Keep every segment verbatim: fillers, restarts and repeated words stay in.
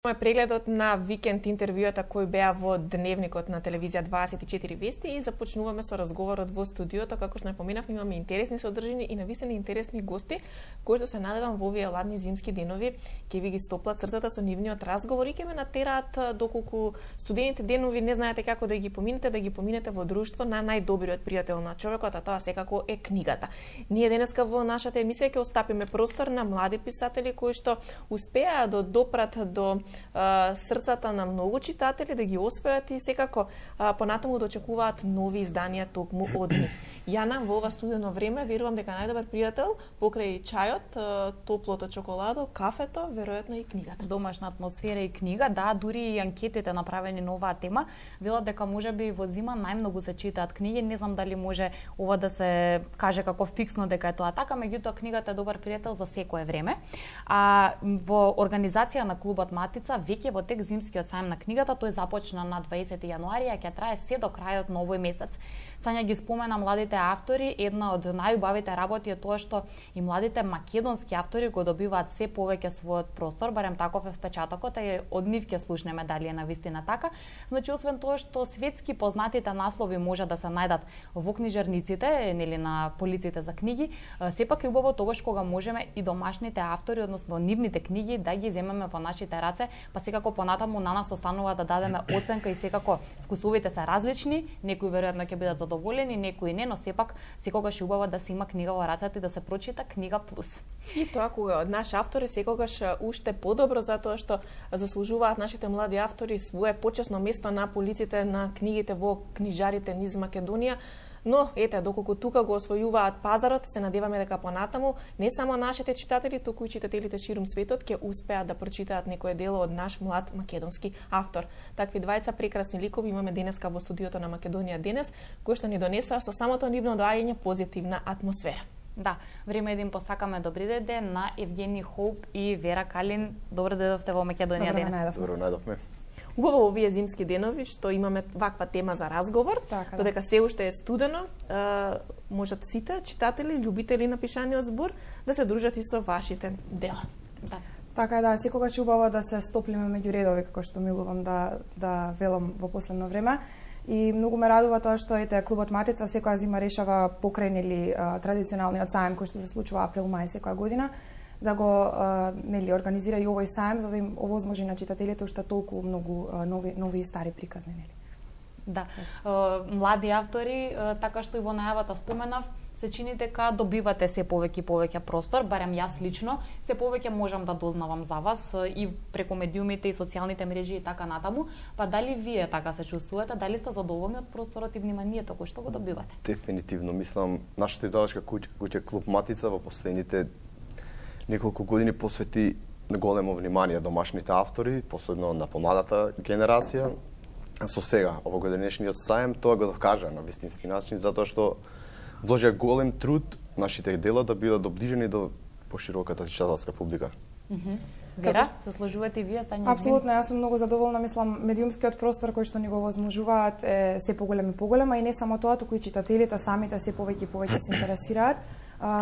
Мој прегледот на викенд интервјуата кои беа во дневникот на телевизија дваесет и четири вести и започнуваме со разговорот во студиото. Како што напоминавме, имаме интересни содржини и навистина интересни гости кои што се надевам во овие ладни зимски денови ќе ви ги стоплат срцата со нивниот разговор и ќе ме натераат доколку студените денови не знаете како да ги поминете, да ги поминете во друштво на најдобриот пријател на човекот, а тоа секако е книгата. Ние денеска во нашата емисија ќе остапиме простор на млади писатели кои што успеа да допрат до срцата на многу читатели, да ги освојат и секако понатаму да очекуваат нови изданија токму од нив. Јана, во ова студено време, верувам дека најдобар пријател покрај чајот, топлото чоколадо, кафето, веројатно и книгата. Домашна атмосфера и книга, да, дури и анкетите направени на оваа тема, велат дека можеби во зима најмногу се читаат книги. Не знам дали може ова да се каже како фиксно дека е тоа така, меѓутоа книгата е добар пријател за секое време. А во организација на клубот Матица веќе во тек зимскиот сајм на книгата, тој започна на дваесети јануари, а ќе трае се до крајот на овој месец. Сања ги спомена младите автори, една од најубавите работи е тоа што и младите македонски автори го добиваат се повеќе својот простор, барем таков е впечатокот, и од нив ќе слушнеме дали е навистина така. Значи, освен тоа што светски познатите наслови може да се најдат во книжарниците, нели на полиците за книги, сепак е убаво тогаш кога можеме и домашните автори, односно нивните книги да ги земеме во нашите раце, па секако понатаму на нас останува да дадеме оценка и секако вкусовите се различни, некои веројатно ќе бидат задоволени, некои не, но сепак секогаш е убаво да се има книга во рацете и да се прочита книга плюс. И тоа кога од наш автор е секогаш уште подобро, затоа што заслужуваат нашите млади автори свое почесно место на полиците на книгите во книжарите низ Македонија. Но, ете, доколку тука го освојуваат пазарот, се надеваме дека понатаму не само нашите читатели, туку и читателите ширум светот ќе успеат да прочитаат некое дело од наш млад македонски автор. Такви двајца прекрасни ликови имаме денеска во студиото на Македонија денес, кои што ни донесоа со самото нивно доаѓање позитивна атмосфера. Да, време е да им посакаме добри ден на Евгени Хоуп и Вера Калин. Добро дојдовте во Македонија денес. Добро најдовме. Убаво овие зимски денови што имаме ваква тема за разговор, така, додека се уште е студено, можат сите читатели, љубители на пишаниот збор да се дружат и со вашите дела. Да. Така е, да, секогаш е убаво да се стоплиме меѓу редови, како што милувам да да велам во последно време. И многу ме радува тоа што ете клубот Матица секоја зима решава покрај нели традиционалниот сајм кој што се случува април-мај секоја година, да го а, нели организира и овој сајм за да им овозможи на читателите уште толку многу а, нови нови и стари приказни, нели. Да. Uh, млади автори, uh, така што и во најавата споменав, се чини дека добивате се повеќе и повеќе простор, барем јас лично, се повеќе можам да дознавам за вас uh, и преку медиумите и социјалните мрежи и така натаму. Па дали вие така се чувствувате, дали сте задоволни од просторот и вниманието кој што го добивате? Дефинитивно, мислам, нашата издавачка куќа, куќа Клуб Матица во последните неколку години посвети големо внимание домашните автори, посебно на помладата генерација. Со сега, овогодишниот сајм, тоа го докажа на вистински начин, затоа што вложија голем труд нашите дела да бидат доближени до пошироката читателска публика. Mm -hmm. Вера, се сложувате и вие, Тања? Апсолутно, јас сум многу задоволна, мислам, медиумскиот простор кој што ни го возможуваат е се поголем и поголема, и не само тоа, туку и читателите самите се повеќе и повеќе се интересираат.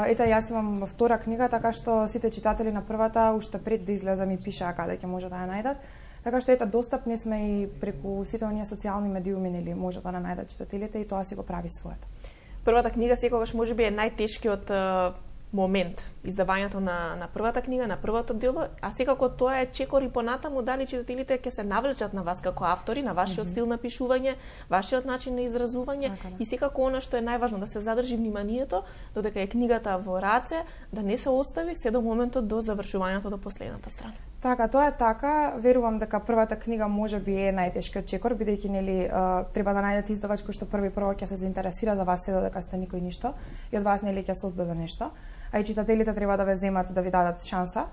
Ета, јас имам втора книга, така што сите читатели на првата, уште пред да излезе, ми пишаа каде ќе може да ја најдат. Така што ета, достапни сме и преку сите оние социјални медиуми, нели, може да најдат читателите и тоа си го прави своето. Првата книга секогаш можеби е најтешкиот момент, издавањето на, на првата книга, на првото дело, а секако тоа е чекор и понатаму дали читателите ќе се навлечат на вас како автори, на вашиот mm -hmm. стил на пишување, вашиот начин на изразување, така, да. И секако она што е најважно да се задржи вниманието, додека е книгата во раце, да не се остави се до моментот до завршувањето до последната страна. Така, тоа е така. Верувам дека првата книга можеби е најтешкиот чекор, бидејќи нели треба да најдете издавач кој што први прво ќе се заинтересира за вас се додека сте никој ништо и од вас нели ќе создаде нешто. А и читателите треба да ве земат, да ви дадат шанса,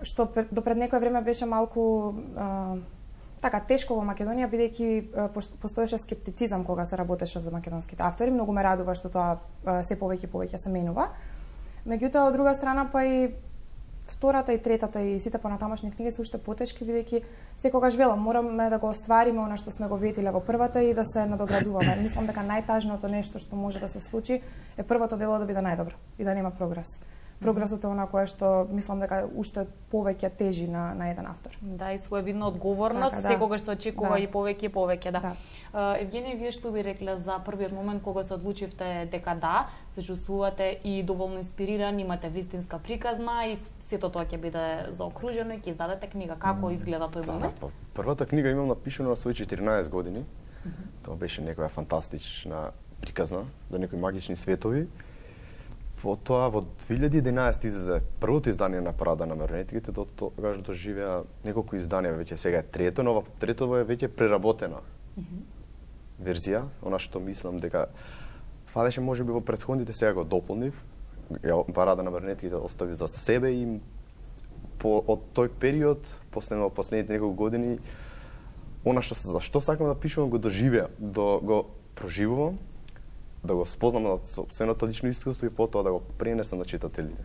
што до пред некој време беше малку така тешко во Македонија, бидејќи постоеше скептицизам кога се работеше за македонските автори. Многу ме радува што тоа се повеќе и повеќе се менува. Меѓутоа, од друга страна, па и втората и третата и сите понатамошни книги се уште потешки, бидејќи секогаш велам, мораме да го оствариме она што сме го ветиле во првата и да се надоградуваме. Мислам дека најтажното нешто што може да се случи е првото дело да биде најдобро и да нема прогрес. Прогресот е она кое што мислам дека уште повеќе тежи на на еден автор. Да, и своевидна одговорност, така, да. секогаш се очекува Да. и повеќе и повеќе, да. Да. Uh, Евгенија, вие што би рекле за првиот момент кога се одлучивте дека да, се чувствувате и доволно инспириран, имате вистинска приказна и сето тоа ќе биде заокружено и ќе издадете книга. Како изгледа тој момент? Да, првата книга имам напишано на свои четиринаесет години. Mm -hmm. Тоа беше некоја фантастична приказна до некои магични светови. Потоа во две илјади и единаесетте излезе првото издание на Парада на марионетките, до тогаш доживеа неколку изданија, веќе сега е трето, но трето е веќе преработена mm -hmm. верзија, она што мислам дека фалеше можеби во претходните, сега го дополнив. Ја Парада на марионетките остави за себе и по од тој период, последно последните неколку години, она што за што сакам да пишувам го доживеа, до го проживувам, да го спознам на собственото лично искуство и потоа да го пренесам на читателите.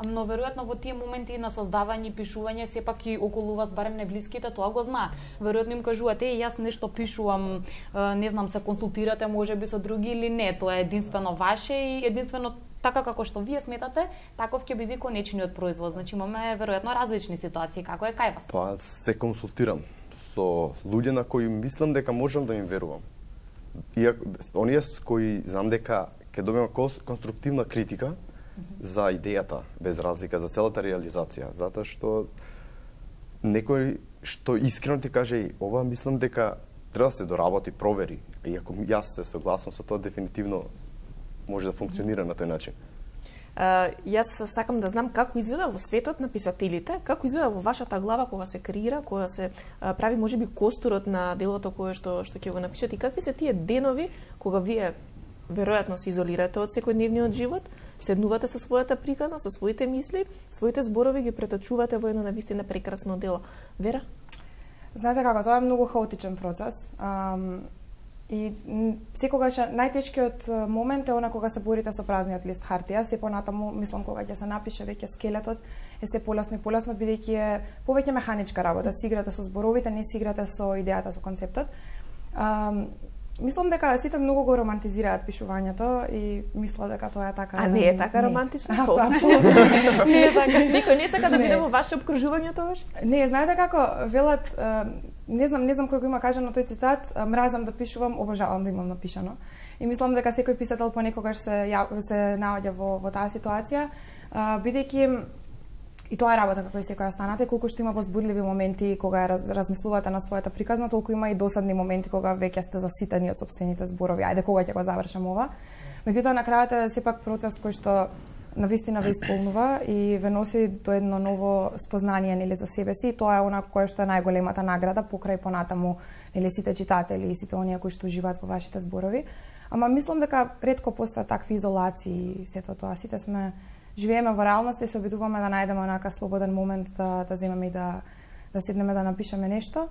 Но веројатно во тие моменти на создавање и пишување сепак и околу вас барем неблиските тоа го знаат. Веројатно им кажувате, е, јас нешто пишувам, не знам, се консултирате можеби со други или не, тоа е единствено ваше и единствено така како што вие сметате, таков ќе биде конечниот производ. Значи имаме веројатно различни ситуации, како е кај вас? Па се консултирам со луѓе на кои мислам дека можам да им верувам. Иако оние кои знам дека ќе добиам конструктивна критика mm -hmm. за идејата, без разлика за целата реализација, затоа што некој што искрено ти каже и ова мислам дека треба да се доработи, провери. И ако јас се согласам со тоа, дефинитивно може да функционира на тој начин. Uh, јас сакам да знам како изгледа во светот на писателите, како изгледа во вашата глава кога се креира, кога се uh, прави можеби костурот на делото кое што што ќе го напишете и какви се тие денови кога вие веројатно се изолирате од секојдневниот живот, седнувате со својата приказна, со своите мисли, своите зборови ги преточувате во едно навистина прекрасно дело. Вера? Знаете како, тоа е многу хаотичен процес. Um... И секогаш најтешкиот момент е она кога се борите со празниот лист хартија, се понатаму мислам кога ќе се напише веќе скелетот е се полесно и полесно бидејќи е повеќе механичка работа, си играте со зборовите, не си играте со идејата, со концептот. А, мислам дека сите многу го романтизираат пишувањето и мисла дека тоа е така. А не е така романтично? Апсолутно. Не е така. Никој не сака да биде во ваше обкружување тогаш? Не, знаете како велат, не знам, не знам кој го има кажано тој цитат, мразам да пишувам, обожавам да имам напишано. И мислам дека секој писател понекогаш се ја, се наоѓа во во таа ситуација, бидејќи и тоа е работа како и секоја останате, колку што има возбудливи моменти кога раз, размислувате на својата приказна, толку има и досадни моменти кога веќе сте заситени од сопствените зборови. Ајде кога ќе го завршам ова. Меѓутоа на крајот е сепак процес кој што навистина ве исполнува и ве носи до едно ново спознание нели за себе си и тоа е она кое што е најголемата награда покрај понатаму нели сите читатели и сите оние кои што живеат во вашите зборови. Ама мислам дека ретко постојат такви изолации и сето тоа. Сите сме живееме во реалноста и се обидуваме да најдеме онака слободен момент да да земеме и да да седнеме да напишеме нешто.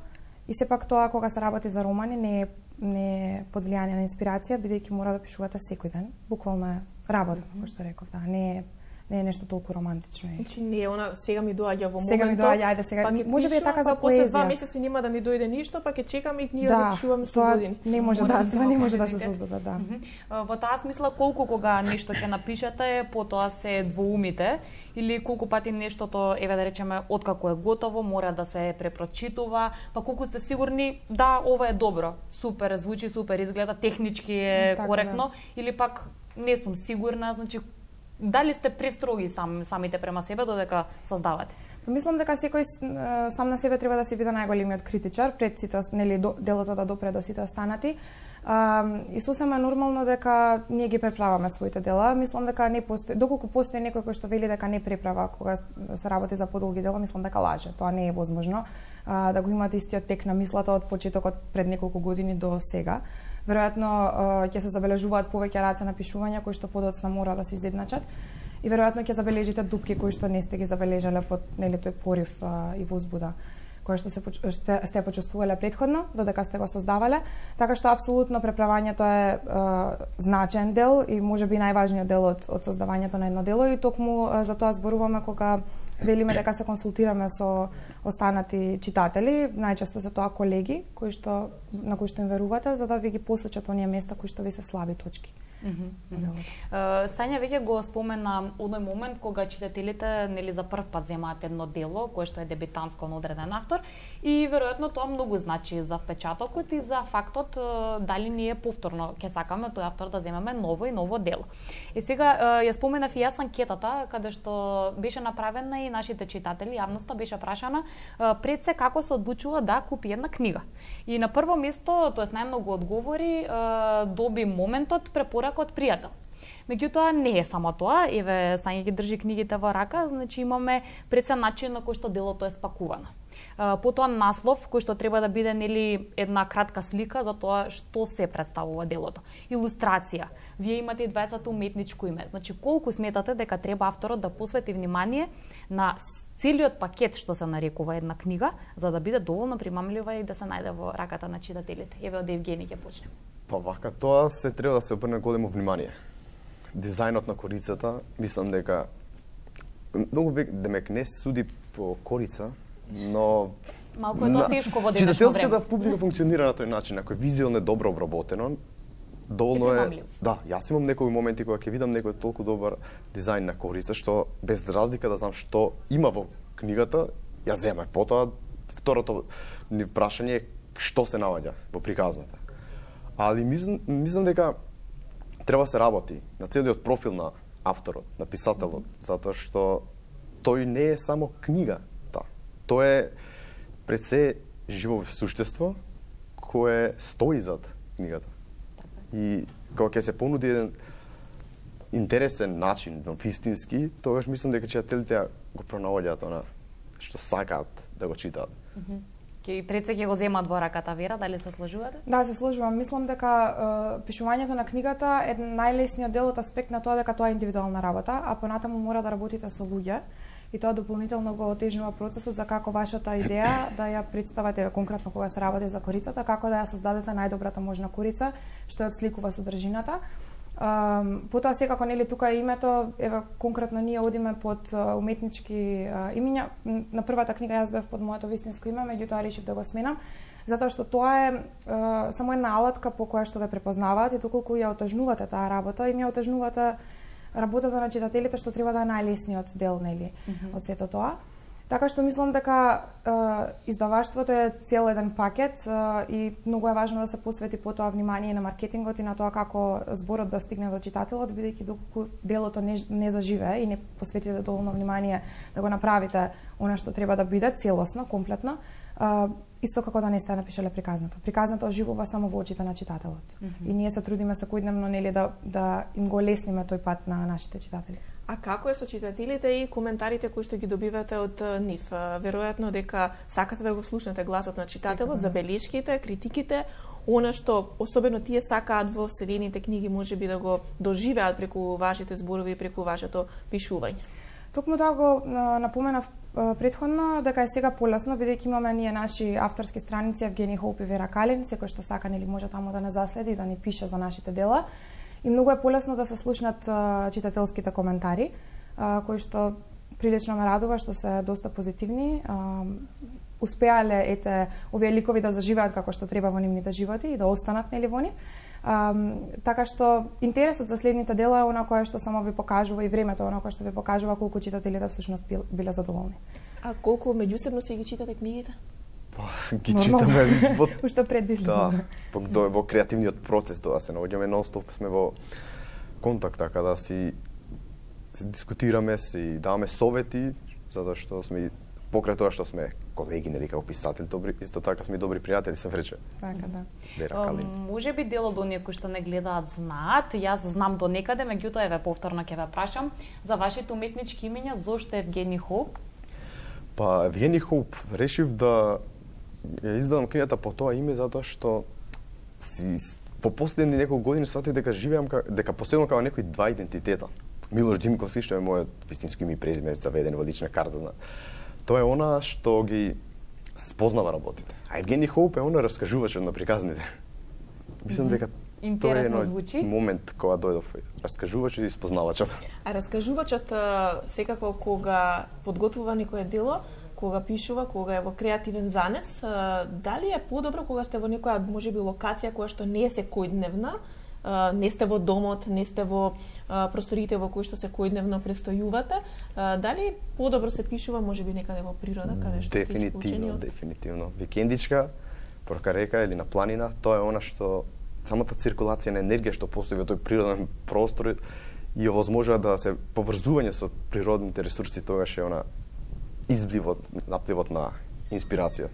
И сепак тоа кога се работи за романи не е не е под влијание на инспирација, бидејќи мора да пишувате секој ден. Буквално е работа, како што реков, да, не е не е нешто толку романтично. Значи не е она сега ми доаѓа во моментот. Сега ми доаѓа, ајде сега. Па може би е така за па после поезија. два месеци нема да ми дојде ништо, па ќе чекаме и книга да, да пишуваме со тоа години. Не може да, тоа не може да се создада, да. Mm -hmm. Во таа смисла колку кога нешто ќе напишете, потоа се двоумите или колку пати нештото, еве да речеме, откако е готово, мора да се препрочитува, па колку сте сигурни да ова е добро, супер звучи, супер изгледа, технички е така, коректно, да. или пак не сум сигурна, значи дали сте престроги сам самите према себе додека создавате? Мислам дека секој сам на себе треба да си биде најголемиот критичар пред сите нели делото да допре до сите останати. А, и сосема нормално дека ние ги преправаме своите дела. Мислам дека не постои, доколку постои некој кој што вели дека не преправа кога се работи за подолги дела, мислам дека лаже. Тоа не е возможно. А, да го имате истиот тек на мислата од почетокот пред неколку години до сега. Веројатно ќе се забележуваат повеќе раце на пишување кои што подоцна мора да се изедначат. И веројатно ќе забележите дупки кои што не сте ги забележале под нели тој порив а, и возбуда која што се сте, сте почувствувале претходно додека сте го создавале, така што апсолутно преправањето е а, значаен дел и можеби најважниот дел од, од создавањето на едно дело и токму а, за тоа зборуваме кога велиме дека се консултираме со останати читатели, најчесто се тоа колеги кои што на кои што им верувате, за да ви ги посочат оние места кои што ви се слаби точки. Mm -hmm. uh, Сања веќе го спомена оној момент кога читателите нели за прв пат земаат едно дело кое што е дебитанско на одреден автор и веројатно тоа многу значи за впечатокот и за фактот uh, дали ние повторно ќе сакаме тој автор да земеме ново и ново дело. И сега uh, ја споменав и јас анкетата каде што беше направена и нашите читатели, јавноста беше прашана uh, пред се како се одлучува да купи една книга. И на прво место, тоест најмногу одговори uh, доби моментот препорака од пријател. Меѓутоа не е само тоа, еве Сања ги држи книгите во рака, значи имаме пред се начин на кој што делото е спакувано. Потоа наслов кој што треба да биде нели една кратка слика за тоа што се представува делото. Илустрација. Вие имате и дваесет уметничко име. Значи колку сметате дека треба авторот да посвети внимание на целиот пакет што се нарекува една книга за да биде доволно примамлива и да се најде во раката на читателите. Еве од Евгени ќе почнем. Па вака тоа се треба да се обрне големо внимание. Дизајнот на корицата, мислам дека многу демек не суди по корица, но малку е тоа тешко во денешно време. Читателската публика функционира на тој начин, ако е визуелно добро обработено, доволно е. Да, јас имам некои моменти кога ќе видам некој толку добар дизајн на корица што без разлика да знам што има во книгата, ја земам. Потоа второто ни прашање е што се наоѓа во приказната. Али мислам, мислам дека треба се работи на целиот профил на авторот, на писателот, затоа што тој не е само книга. Тоа е пред се живо суштество кое стои зад книгата. И кога ќе се понуди еден интересен начин, вистински, тогаш мислам дека читателите го пронаоѓаат она што сакаат да го читаат. И пред се ќе го земат во раката, Вера, дали се сложувате? Да, се сложувам. Мислам дека е, пишувањето на книгата е најлесниот дел од аспект на тоа дека тоа е индивидуална работа, а понатаму мора да работите со луѓе. И тоа дополнително го отежнува процесот за како вашата идеја да ја представате конкретно кога се работи за корицата, како да ја создадете најдобрата можна корица што ја отсликува содржината. Um, потоа секако нели тука е името, еве конкретно ние одиме под uh, уметнички uh, имиња. На првата книга јас бев под моето вистинско име, меѓутоа решив да го сменам, затоа што тоа е uh, само една алатка по која што ве препознаваат и доколку ја отежнувате таа работа, и ми ја отежнувате работата на читателите што треба да е најлесниот дел нели mm -hmm. од сето тоа. Така што мислам дека е, издаваштвото е цел еден пакет е, и многу е важно да се посвети потоа внимание на маркетингот и на тоа како зборот да стигне до читателот, бидејќи доколку делото не, не заживее и не посветите доволно внимание да го направите она што треба да биде целосно, комплетно, е, исто како да не сте напишале приказната. Приказната оживува само во очите на читателот. Mm -hmm. И ние се трудиме секојдневно нели да да им го лесниме тој пат на нашите читатели. А како е со читателите и коментарите кои што ги добивате од нив? Веројатно дека сакате да го слушнете гласот на читателот, забелешките, критиките, она што особено тие сакаат во вселените книги можеби да го доживеат преку вашите зборови и преку вашето пишување. Токму тоа го напоменав претходно дека е сега полесно, бидејќи имаме ние наши авторски страници Евгени Хоуп и Вера Калин, секој што сака нели може таму да не заследи и да ни пише за нашите дела. И многу е полесно да се слушнат а, читателските коментари, а, кои што прилично ме радува, што се доста позитивни. А, успеале ете овие ликови да заживеат како што треба во нивните животи и да останат нели во нив. А, така што интересот за следните дела е она кое што само ви покажува и времето она кое што ви покажува колку читателите всушност биле задоволни. А колку меѓусебно си ги читате книгите? Па, ги читаме во уште пред да излеземе. Да, во, во креативниот процес тоа се наоѓаме нон-стоп, сме во контакт, така да си, си дискутираме, си даваме совети, затоа што сме покрај тоа што сме колеги, нели како писатели, добри, исто така сме добри пријатели, се врече. Така да. Вера Калин. Може би дел од оние кои што не гледаат знаат, јас знам до некаде, меѓутоа еве повторно ќе ве прашам за вашите уметнички имиња, зошто Евгени Хоуп? Па Евгени Хоуп решив да ја издадам книгата по тоа име затоа што си во последни неколку години сватив дека живеам дека поседам како некои два идентитета. Милош Димковски што е мојот вистинско име и презиме заведено во лична карта. Тоа е она што ги спознава работите. А Евгени Хоуп е она раскажувачот на приказните. Мислам mm -hmm. дека Интересно тоа е звучи. момент кога дојдов раскажувачот и спознавачот. А раскажувачот секако кога подготвува некое дело, кога пишува, кога е во креативен занес, дали е подобро кога сте во некоја можеби локација која што не е секојдневна, не сте во домот, не сте во просториите во кои што секојдневно престојувате, дали подобро се пишува можеби некаде во природа, каде што сте исклучени од... Дефинитивно. Викендичка, порка река или на планина, тоа е она што самата циркулација на енергија што постои во тој природен простор и овозможува да се поврзување со природните ресурси, тогаш е она избливот, напливот на инспирација.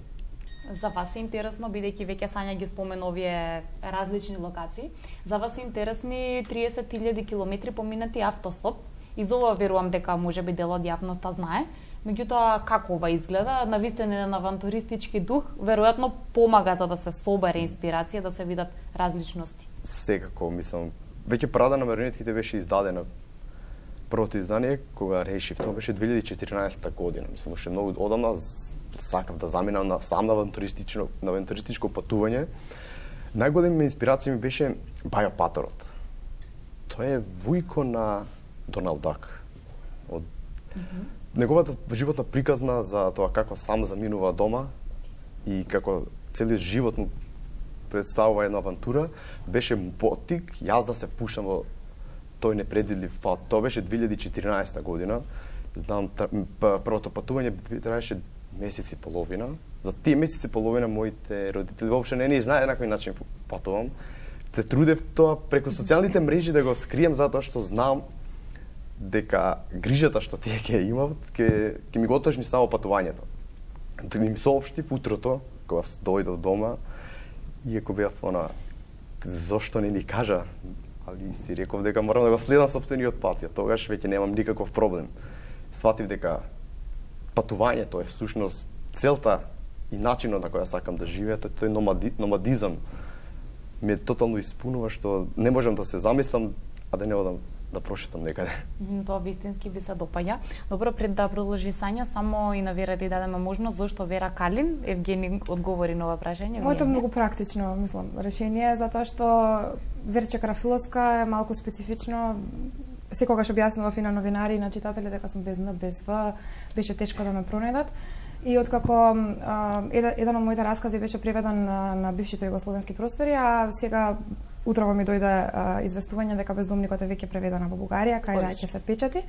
За вас е интересно, бидејќи веќе Сања ги спомена овие различни локации, за вас е интересни триесет илјади километри поминати автостоп. И за ова верувам дека можеби дел од јавноста знае. Меѓутоа, како ова изгледа, навистина на авантуристички дух, веројатно помага за да се собере инспирација, да се видат различности. Секако, мислам, веќе прада на марионетките беше издадена првото издание, кога решив, тоа беше две илјади и четиринаесета година. Мислам, уште многу одамна сакав да заминам на сам на авантуристично на авантуристичко патување. Најголема инспирација ми беше Баја Паторот. Тоа е вујко на Доналд Дак. Од mm -hmm. неговата животна приказна за тоа како сам заминува дома и како целиот живот му представува една авантура, беше потик јас да се пушам во тој непредвидлив пат. Тоа беше две илјади и четиринаесета година. Знам, првото патување траеше месеци и половина. За тие месеци и половина моите родители воопшто не ни знаеа на кој начин патувам. Се трудев тоа преку социјалните мрежи да го скрием затоа што знам дека грижата што тие ќе имат, ќе ќе ми го отежни само патувањето. Тоа ми соопштив утрото кога дојдов дома, иако бев она, зошто не ни кажа, али си реков дека морам да го следам сопствениот пат, ја тогаш веќе немам никаков проблем. Сватив дека патувањето е всушност целта и начинот на која сакам да живея, тој номади, номадизам ме тотално испунува што не можам да се замислам, а да не одам да прошетам некаде. Mm, тоа вистински би се допаѓа. Добро, пред да продолжи Сања, само и на Вера да дадеме можност, зошто Вера Калин? Евгени одговори на ова прашање. Моето многу практично, мислам, решение, затоа што Верче Карафиловска е малку специфично. Секогаш објаснував и на новинари и на читатели дека сум без Н, без В, беше тешко да ме пронајдат. И откако а, еден, еден од моите раскази беше преведен на, на бившите југословенски простори, а сега утрово ми дојде а, известување дека Бездомникот е веќе преведена во Бугарија, кај да ќе се печати.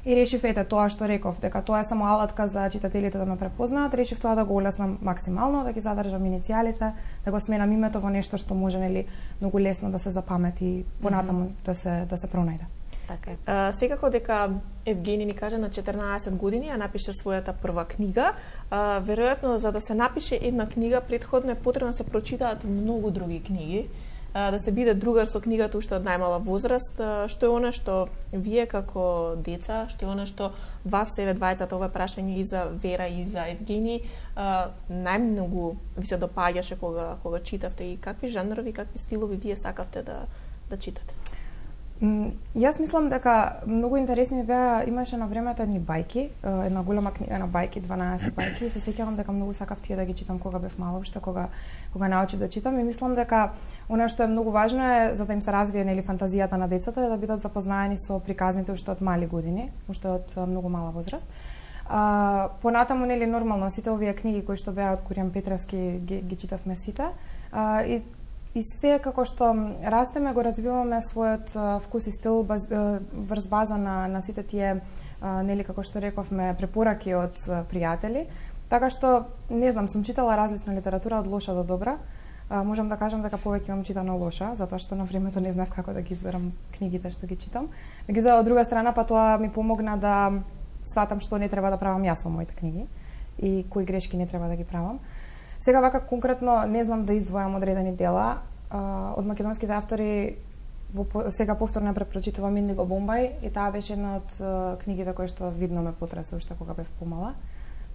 И решив, ете, тоа што реков, дека тоа е само алатка за читателите да ме препознаат, решив тоа да го улеснам максимално, да ги задржам иницијалите, да го сменам името во нешто што може, нели, многу лесно да се запамети и понатаму mm -hmm. да се да се пронајде. Така е. А, секако дека Евгени ни кажа на четрнаесет години ја напише својата прва книга. А, веројатно за да се напише една книга претходно е потребно да се прочитаат многу други книги, а, да се биде другар со книгата уште од најмала возраст. А, што е она што вие како деца, што е она што вас еве двајцата, ова прашање и за Вера и за Евгени, а, најмногу ви се допаѓаше кога кога читавте и какви жанрови, какви стилови вие сакавте да да читате? Јас мислам дека многу интересни ми беа, имаше на времето едни бајки, една голема книга на бајки, дванаесет бајки, се сеќавам дека многу сакав тие да ги читам кога бев мала, уште кога кога научив да читам и мислам дека она што е многу важно е за да им се развие нели фантазијата на децата е да бидат запознаени со приказните уште од мали години, уште од многу мала возраст. А, понатаму нели нормално сите овие книги кои што беа од Куријан Петревски ги, ги читавме сите. А, и И се како што растеме, го развиваме својот а, вкус и стил баз, а, врз база на, на сите тие, а, нели, како што рековме, препораки од а, пријатели. Така што, не знам, сум читала различна литература од лоша до добра. А, можам да кажам дека повеќе имам читано лоша, затоа што на времето не знав како да ги изберам книгите што ги читам. Меѓутоа, од друга страна, па тоа ми помогна да сватам што не треба да правам јас во моите книги и кои грешки не треба да ги правам. Сега вака конкретно не знам да издвојам одредени дела. А, од македонските автори во, сега повторно препрочитувам Индиго Бомбај и таа беше една од а, книгите кои што видно ме потресе уште кога бев помала.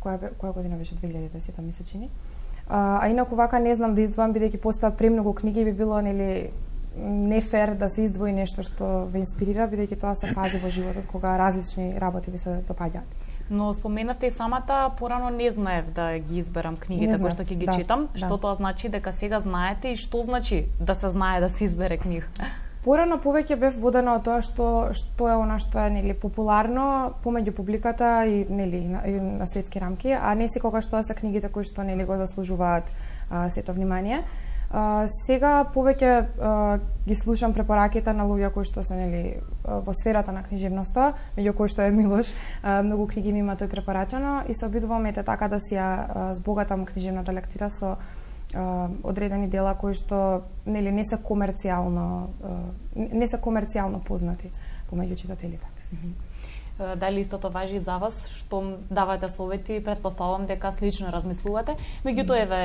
Која, која година беше две илјади и десета ми се чини. А, а инаку вака не знам да издвојам бидејќи постојат премногу книги, би било нели не фер да се издвои нешто што ве инспирира, бидејќи тоа се фази во животот кога различни работи ви се допаѓаат. Но споменавте и самата, порано не знаев да ги изберам книгите кои што ќе ги да, читам. Да. Што тоа значи дека сега знаете и што значи да се знае да се избере книга? Порано повеќе бев водена од тоа што што е она што е нели популарно помеѓу публиката и нели на, и на светски рамки, а не секогаш тоа се книгите кои што нели го заслужуваат а, сето внимание. А, сега повеќе а, ги слушам препораките на луѓе кои што се нели во сферата на книжевноста, меѓу кои што е Милош, а, многу книги ми има тој препорачено и се обидувам ете така да си ја збогатам книжевната лектира со Uh, одредени дела кои што нели не се комерцијално uh, не се комерцијално познати помеѓу читателите. Mm-hmm. Дали истото важи за вас, што давате совети, претпоставувам дека слично размислувате. Меѓутоа еве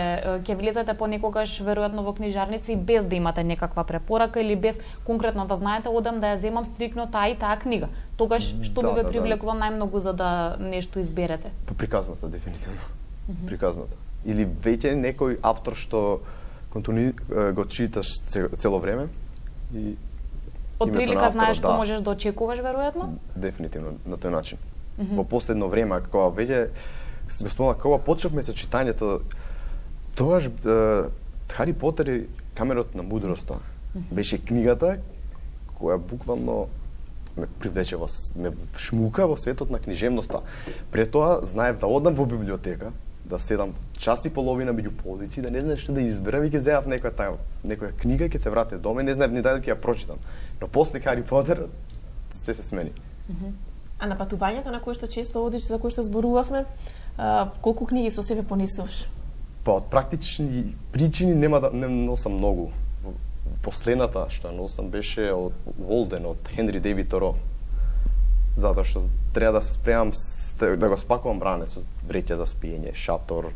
ќе влезете понекогаш веројатно во книжарници без да имате некаква препорака или без конкретно да знаете одам да ја земам стрикно таа и таа книга. Тогаш што да, би ве да, привлекло да. најмногу за да нешто изберете? По приказната дефинитивно. Mm-hmm. Приказната. Или веќе некој автор што контину го читаш цело време и од прилика знаеш што да, можеш да очекуваш веројатно? Дефинитивно на тој начин. Mm-hmm. Во последно време кога веќе го спомнав кога почнавме со читањето, тогаш Хари Потер и камерот на мудроста mm-hmm. беше книгата која буквално ме привлече во ме шмука во светот на книжевноста. Пред тоа знаев да одам во библиотека, да седам час и половина меѓу полици, да не знаеш што да изберам и ќе земав некоја таја, некоја книга и ќе се вратам дома и не знаев ни дали ќе ја прочитам. Но после Хари Потер се се смени. Mm-hmm. А на патувањето на кои што често одиш, за кои што зборувавме, а, колку книги со себе понесуваш? Па од практични причини нема да не носам многу. Последната што носам беше од Волден од Хенри Дейвид Торо. Затоа што треба да се спремам да го спакувам ранец, вреќа за спиење, шатор,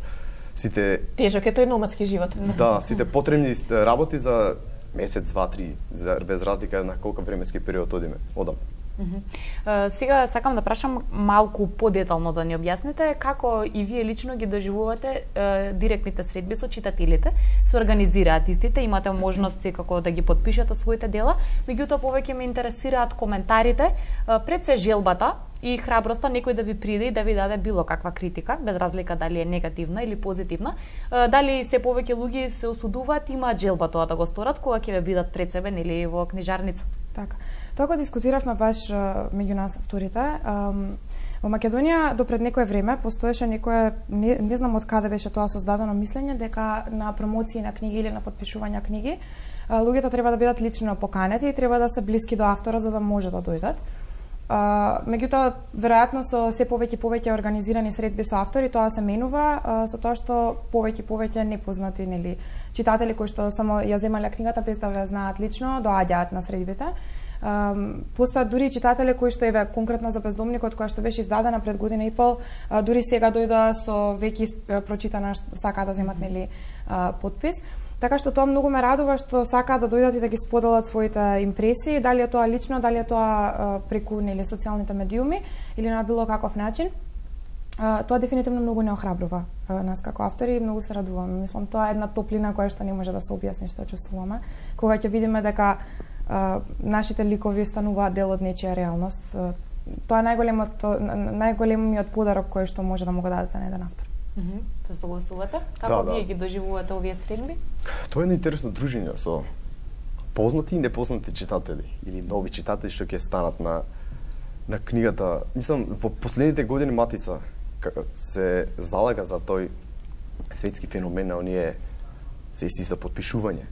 сите тежок е тој номадски живот. Да, сите потребни работи за месец, два, три, за без разлика на колку временски период одиме, одам. Uh-huh. Сега сакам да прашам малку подетално да ни објасните како и вие лично ги доживувате uh, директните средби со читателите. Се организираат истите, имате можност секако да ги подпишете своите дела, меѓутоа повеќе ме интересираат коментарите, uh, пред се желбата и храброста некој да ви приде и да ви даде било каква критика, без разлика дали е негативна или позитивна. Uh, дали се повеќе луѓе се осудуваат, имаат желба тоа да го сторат кога ќе ве видат пред себе нели во книжарница. Така. Тоа го дискутиравме баш меѓу нас авторите. Во Македонија до пред некое време постоеше некое, не, не знам од каде беше тоа создадено мислење дека на промоции на книги или на подпишување книги луѓето треба да бидат лично поканети и треба да се блиски до автора за да може да дојдат. Меѓутоа, веројатно со се повеќе повеќе организирани средби со автори, тоа се менува со тоа што повеќе повеќе непознати нели читатели кои што само ја земале книгата без да ја знаат лично, доаѓаат на средбите. Um, постојат дури читатели кои што еве конкретно за Бездомникот која што беше издадена пред година и пол, uh, дури сега дојдоа со веќе прочитана сака да земат нели uh, подпис. Така што тоа многу ме радува што сакаат да дојдат и да ги споделат своите импресии, дали е тоа лично, дали е тоа uh, преку нели социјалните медиуми или на било каков начин. Uh, тоа дефинитивно многу не охрабрува uh, нас како автори и многу се радуваме. Мислам тоа е една топлина која што не може да се објасни што чувствуваме кога ќе видиме дека Uh, нашите ликови стануваат дел од нечија реалност. Uh, тоа е најголемот најголемиот подарок кој што може да му го дадете на еден автор. Мм, mm-hmm. Тоа согласувате? Како да, вие да. ги доживувате овие средби? Тоа е едно интересно дружење со познати и непознати читатели или нови читатели што ќе станат на на книгата. Мислам во последните години Матица се залага за тој светски феномен на оние сесии за подпишување.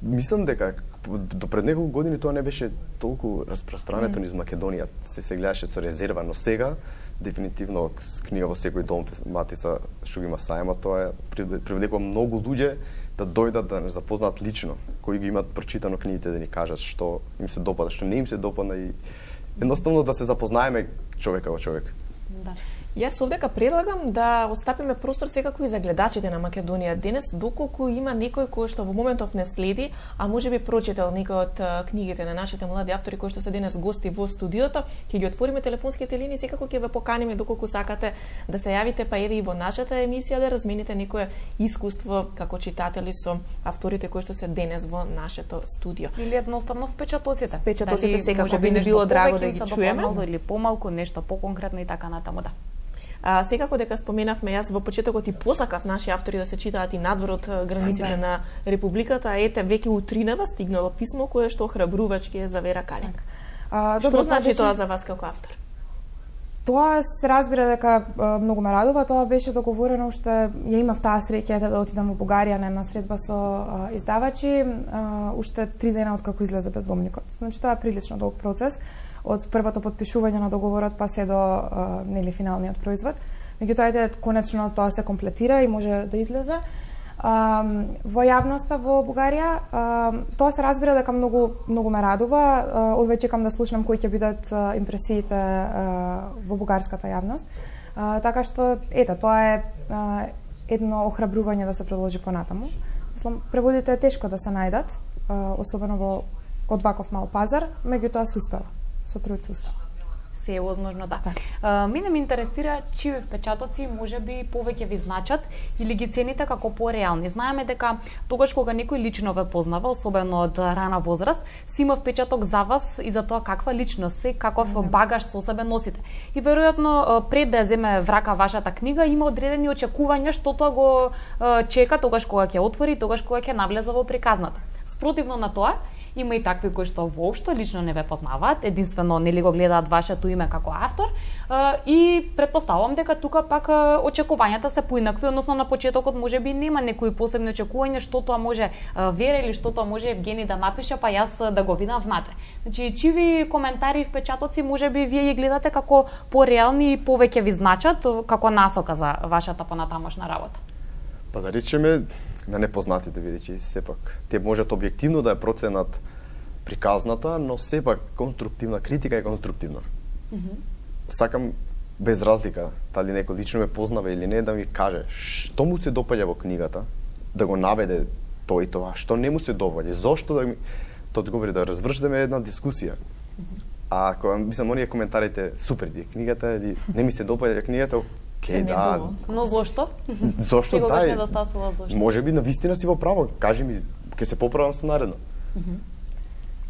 Мислам дека до пред неколку години тоа не беше толку распространето mm. низ Македонија, се се гледаше со резерва, но сега дефинитивно книга во секој дом Матица што ги има сајма, тоа привлекува многу луѓе да дојдат да не запознаат лично, кои ги имаат прочитано книгите да ни кажат што им се допада, што не им се допадна и едноставно да се запознаеме човека во човек. Да. Јас овдека предлагам да остапиме простор секако и за гледачите на Македонија денес, доколку има некој кој што во моментов не следи, а можеби прочитал некој од книгите на нашите млади автори кои што се денес гости во студиото, ќе ги отвориме телефонските линии, секако ќе ве поканиме доколку сакате да се јавите, па еве и во нашата емисија да размените некое искуство како читатели со авторите кои што се денес во нашето студио. Или едноставно впечатоците. Впечатоците секако би ни било драго да ги чуеме. Или помалку, нешто поконкретно и така натаму, да. А, секако дека споменавме, јас во почетокот и посакав наши автори да се читаат и надвор од границите на Републиката, а ете веќе утринава стигнало писмо кое што охрабрувачки е за Вера Калин. А, што добро, значи беше... тоа за вас како автор? Тоа се разбира дека а, многу ме радува, тоа беше договорено уште ја имав таа среќа да отидам во Бугарија на една средба со а, издавачи, а, уште три дена од како излезе Бездомникот. Значи тоа е прилично долг процес од првото подпишување на договорот па се до а, нели финалниот производ. Меѓутоа ете конечно тоа се комплетира и може да излезе. А, во јавноста во Бугарија а, тоа се разбира дека многу многу ме радува. Одвај чекам да слушнам кои ќе бидат а, импресиите а, во бугарската јавност. А, така што ете тоа е а, едно охрабрување да се продолжи понатаму. Мислам преводите е тешко да се најдат, а, особено во од ваков мал пазар, меѓутоа се успева. Со труд се успева. Се е возможно, да. Uh, мене ме интересира чии впечатоци можеби повеќе ви значат или ги цените како пореални. Знаеме дека тогаш кога некој лично ве познава, особено од рана возраст, си има впечаток за вас и за тоа каква личност сте, каков mm-hmm. багаж со себе носите. И веројатно пред да ја земе врака вашата книга има одредени очекувања што тоа го uh, чека тогаш кога ќе отвори, тогаш кога ќе навлезе во приказната. Спротивно на тоа, има и такви кои што воопшто лично не ве познаваат, единствено нели го гледаат вашето име како автор, и претпоставувам дека тука пак очекувањата се поинакви, односно на почетокот можеби нема некои посебни очекувања што тоа може Вера или што тоа може Евгени да напише, па јас да го видам внатре. Значи, чиви коментари и впечатоци можеби вие ги гледате како пореални и повеќе ви значат како насока за вашата понатамошна работа? Па да речеме на непознатите, видејќи сепак те можат објективно да ја проценат приказната, но сепак конструктивна критика е конструктивна. Mm-hmm. Сакам без разлика дали некој лично ме познава или не да ми каже што му се допаѓа во книгата, да го наведе тоа и тоа, што не му се допаѓа, зошто да ми тоа одговори да развршиме една дискусија. Mm-hmm. А кога мислам оние коментарите супер ди книгата или не ми се допаѓа книгата, Ке, да. Но зошто? Зошто да? Не недостасува зошто. Може би навистина си во право. Кажи ми, ќе се поправам со наредно. Uh -huh.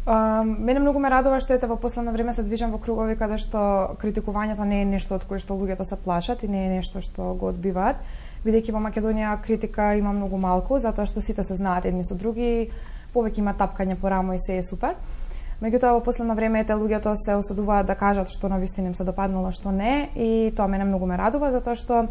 uh, мене многу ме радува што ете во последно време се движам во кругови каде што критикувањето не е нешто од кое што луѓето се плашат и не е нешто што го одбиваат. Бидејќи во Македонија критика има многу малку, затоа што сите се знаат едни со други, повеќе има тапкање по рамо и се е супер. Меѓутоа во последно време ете луѓето се осудуваат да кажат што навистина им се допаднало, што не, и тоа мене многу ме радува затоа што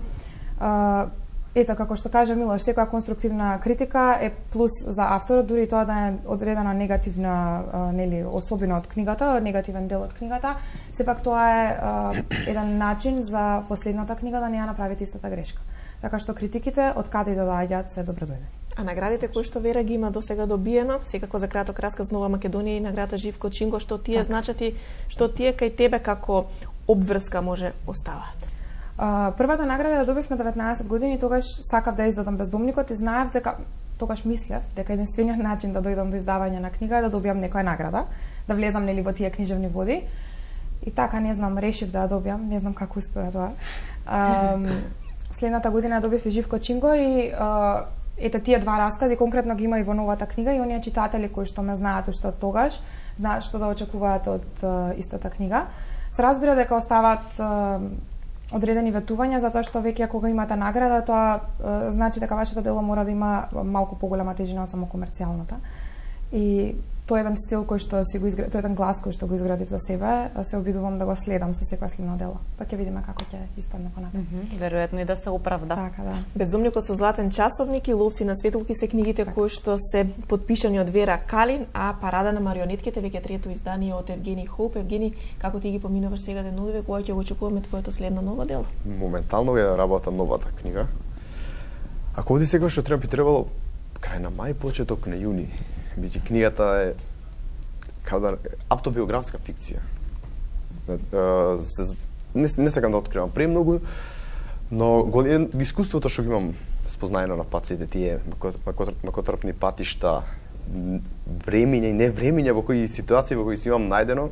а, ето како што кажа Милош, секоја конструктивна критика е плюс за авторот, дури тоа да е одредена негативна а, нели особина од книгата, негативен дел од книгата, сепак тоа е а, еден начин за последната книга да не ја направите истата грешка. Така што критиките од каде да доаѓаат се добредојдени. А наградите кои што Вера ги има досега добиено, секако за краток расказ Нова Македонија и наградата Живко Чинго, што тие так. Значат и што тие кај тебе како обврска може оставаат? А, првата награда ја добив на деветнаесет години, тогаш сакав да издадам Бездомникот и знаев дека тогаш мислев дека единствениот начин да дојдам до издавање на книга е да добијам некоја награда, да влезам нели во тие книжевни води. И така не знам, решив да ја добијам, не знам како успеа тоа. А, следната година ја добив и Живко Чинго и а, ете тие два раскази конкретно ги има и во новата книга и оние читатели кои што ме знаат уште од тогаш, знаат што да очекуваат од uh, истата книга. Се разбира дека оставаат uh, одредени ветувања затоа што веќе кога имате награда, тоа uh, значи дека вашето дело мора да има малку поголема тежина од само комерцијалната. И тоа е еден стил кој што си го изградив, тоа е еден глас кој што го изградив за себе, се обидувам да го следам со секоја следно дело. Па ќе видиме како ќе испадне понатаму. Mm -hmm. Веројатно и да се оправда. Така, да. Бездомникот со златен часовник и Ловци на светулки се книгите така. Кои што се подпишани од Вера Калин, а Парада на марионетките веќе трето издание од Евгени Хоуп. Евгени, како ти ги поминуваш сега деновиве, кога ќе го очекуваме твоето следно ново дело? Моментално ја работам новата книга. Ако оди сега што треба би требало крај на мај, почеток на јуни. Биќе книгата е као да автобиографска фикција. не, не сакам да откривам премногу, но голем искуството што ги имам спознаено на пациите тие макотрпни патишта, времиња и невремиња во кои ситуации во кои си имам најдено,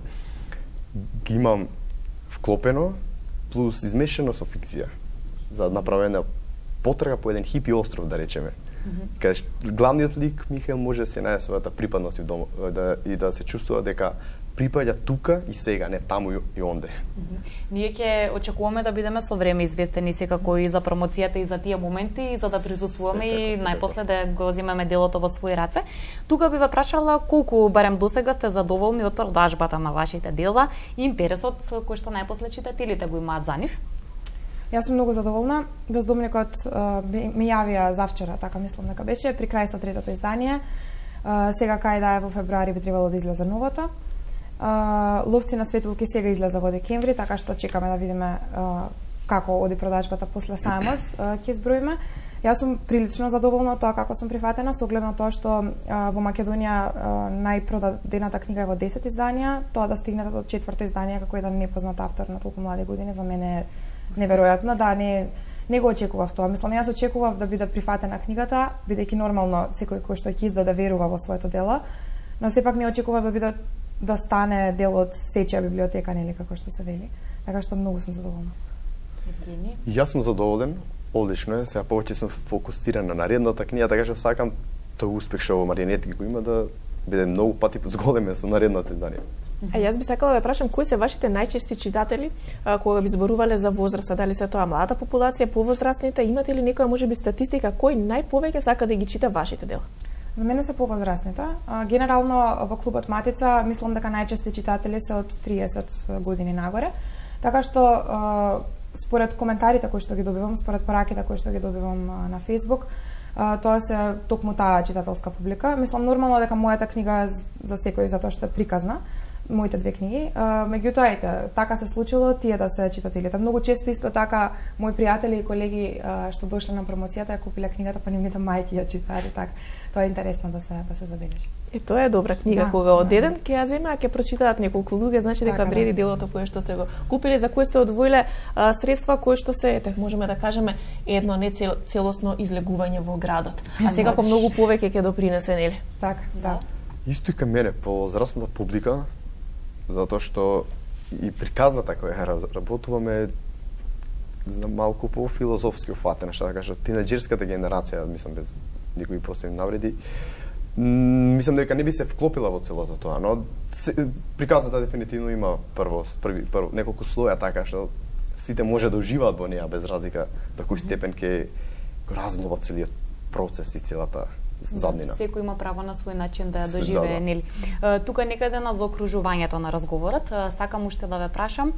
ги имам вклопено, плюс измешано со фикција, за направена потрага по еден хипи остров, да речеме. Mm-hmm. Каде главниот лик Михаел може да се најде својата припадност и, дом, да, и да се чувствува дека припаѓа тука и сега, не таму и онде. Mm-hmm. Ние ќе очекуваме да бидеме со време известени секако и за промоцијата и за тие моменти и за да присуствуваме и најпосле да го земеме делото во своји раце. Тука би ве прашала колку барем досега сте задоволни од продажбата на вашите дела и интересот кој што најпосле читателите го имаат за нив. Јас сум многу задоволна. Бездомникот ми јавија завчера, така мислам дека беше, при крај со третото издание. Сега кај да е во февруари би требало да излезе новото. Ловци на светулки сега излезе во декември, така што чекаме да видиме како оди продажбата после сајмот, ќе изброиме. Јас сум прилично задоволна од тоа како сум прифатена, со оглед на тоа што во Македонија најпродадената книга е во десет изданија, тоа да стигнете до четврто издание како еден непознат автор на толку млади години за мене е неверојатно, да не не го очекував тоа. Мислам, јас очекував да биде прифатена книгата, бидејќи нормално секој кој што ќе издаде верува во своето дело, но сепак не очекував да биде да стане дел од сечија библиотека, нели како што се вели. Така што многу сум задоволна. Евгени? Јас сум задоволен, одлично е. Сега повеќе сум фокусиран на наредната книга, така што сакам тој успех што во Марионетки го има да биде многу пати зголемен со наредното издание. А јас би сакала да прашам кои се вашите најчести читатели а, кога ви зборувале за возраста, дали се тоа младата популација, повозрастните, имате ли некоја можеби статистика кој најповеќе сака да ги чита вашите дела? За мене се повозрастните. Генерално во клубот Матица мислам дека најчести читатели се од триесет години нагоре. Така што според коментарите кои што ги добивам, според пораките кои што ги добивам на Facebook, тоа се токму таа читателска публика. Мислам нормално дека мојата книга за секој затоа што е приказна, моите две книги. Меѓутоа, ете, така се случило тие да се читателите. Многу често исто така мои пријатели и колеги што дошле на промоцијата ја купиле книгата, па нивните мајки ја читаат, така. Тоа е интересно да се да се забележи. Е тоа е добра книга, да, кога од еден ќе ја земе, а ќе прочитаат неколку луѓе, значи дека така, вреди да. делото кое што сте го купиле, за кое сте одвоиле а, средства кои што се, ете, можеме да кажеме едно не цел, целосно излегување во градот. А секако многу повеќе ќе допринесе, нели? Така, да. Исто и кај мене по возрастната публика, затоа што и приказната која работуваме знам малку по филозофски уфатена, што да кажа, тинеџерската генерација, мислам без никои посебни навреди, мислам дека не би се вклопила во целото тоа, но приказната дефинитивно има прво, први, прво неколку слоја така што сите може да уживаат во неа без разлика до кој степен ќе го разглоба целиот процес и целата заднина. Да, секој има право на свој начин да ја доживее, да, да. нели. Тука некаде на заокружувањето на разговорот, сакам уште да ве прашам,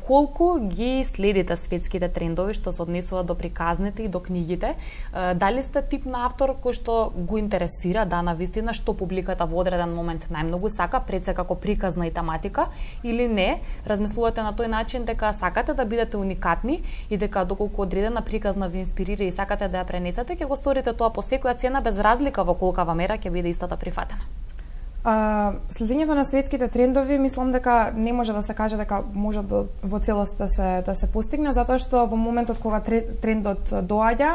колку ги следите светските трендови што се однесуваат до приказните и до книгите? Дали сте тип на автор кој што го интересира, да, навистина, што публиката во одреден момент најмногу сака, пред се како приказна и тематика, или не? Размислувате на тој начин дека сакате да бидете уникатни и дека доколку одредена приказна ви инспирира и сакате да ја пренесете, ќе го сторите тоа по секоја цена без разлика во колкава мера ќе биде истата прифатена? А, следењето на светските трендови мислам дека не може да се каже дека може да, во целост да се да се постигне, затоа што во моментот кога трендот доаѓа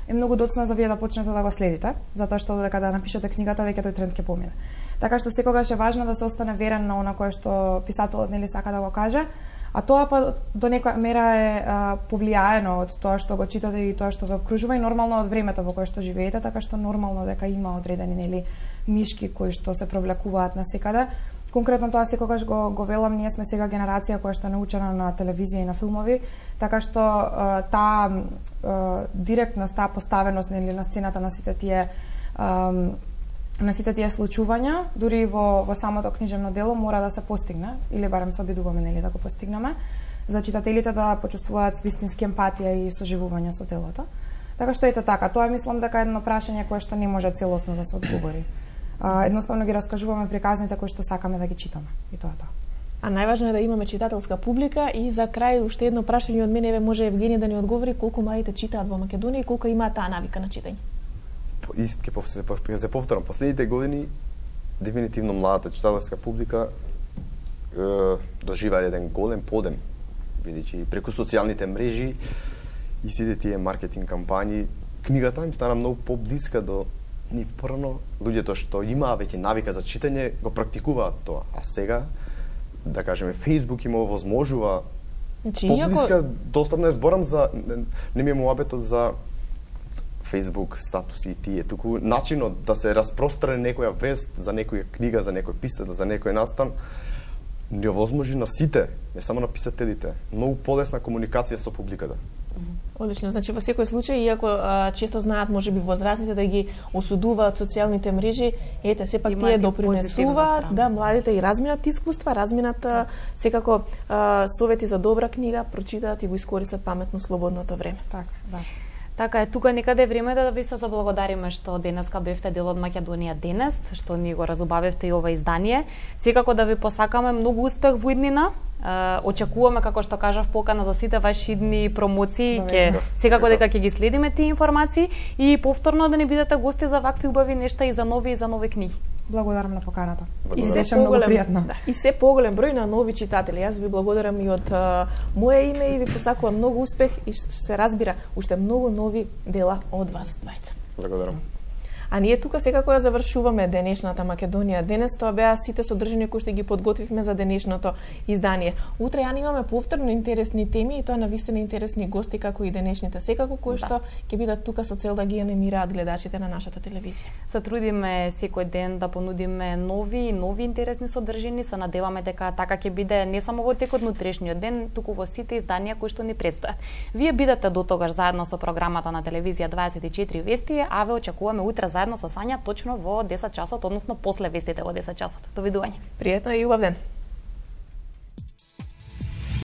е многу доцна за вие да почнете да го следите, затоа што дека да напишете книгата веќе тој тренд ќе помине. Така што секогаш е важно да се остане верен на она кое што писателот нели сака да го каже, а тоа па до некоја мера е а, повлијаено од тоа што го читате и тоа што ве обкружува и нормално од времето во кое што живеете, така што нормално дека има одредени нели нишки кои што се провлекуваат насекаде. Конкретно тоа секогаш го го велам, ние сме сега генерација која што е научена на телевизија и на филмови, така што а, таа а, директност, таа поставеност нели на сцената на сите тие а, на сите тие случувања, дури во во самото книжевно дело мора да се постигне, или барем се обидуваме нели да го постигнеме, за читателите да почувствуваат вистински емпатија и соживување со делото. Така што ете така, тоа мислам дека е едно прашање кое што не може целосно да се одговори. А, едноставно ги раскажуваме приказните кои што сакаме да ги читаме, и тоа тоа. А најважно е да имаме читателска публика и за крај уште едно прашање од мене, може Евгени да ни одговори колку младите читаат во Македонија и колку имаат таа навика на читање. Ист ке се се повторам, последните години дефинитивно младата читателска публика е, доживаа еден голем подем бидејќи преку социјалните мрежи и сите тие маркетинг кампањи, книгата им стана многу поблиска до нив. Порано луѓето што имаа веќе навика за читање го практикуваат тоа, а сега да кажеме Facebook им овозможува поблиска, достапно е, зборам за не, не ми е муабетот за Facebook статуси и тие, туку начинот да се распростране некоја вест за некоја книга, за некој писател, за некој настан, не овозможи на сите, не само на писателите, многу полесна комуникација со публиката. Одлично, значи во секој случај, иако а, често знаат можеби возрастните да ги осудуваат социјалните мрежи, ете сепак Имат тие допринесуваат да младите и разминат искуства, разминат а, секако а, совети за добра книга, прочитаат и го искористат паметно слободното време. Така, да. Така е, тука некаде е време да ви се заблагодариме што денеска бевте дел од Македонија денес, што ни го разубавивте и ова издание. Секако да ви посакаме многу успех во иднина. Uh, очекуваме, како што кажав, покана за сите ваши идни промоции, ќе секако дека ќе ги следиме тие информации и повторно да не бидете гости за вакви убави нешта и за нови и за нови книги. Благодарам на поканата. И се поголем, да, и се поголем број на нови читатели. Јас ви благодарам и од uh, моje име и ви посакувам многу успех и се разбира уште многу нови дела од вас двајца. Благодарам. А ние тука секако ја завршуваме денешната Македонија денес. Тоа беа сите содржини кои што ги подготвивме за денешното издание. Утре ја имаме повторно интересни теми и тоа навистина интересни гости како и денешните. Секако кои да. што ќе бидат тука со цел да ги анимираат гледачите на нашата телевизија. Се трудиме секој ден да понудиме нови нови интересни содржини. Се надеваме дека така ќе биде не само во текот на утрешниот ден, туку во сите изданија кои што ни предстојат. Вие бидете дотогаш заедно со програмата на телевизија дваесет и четири вести, а ве очекуваме утре заедно со Сања точно во десет часот, односно после вестите во десет часот. Довидување. Пријатно и убав ден.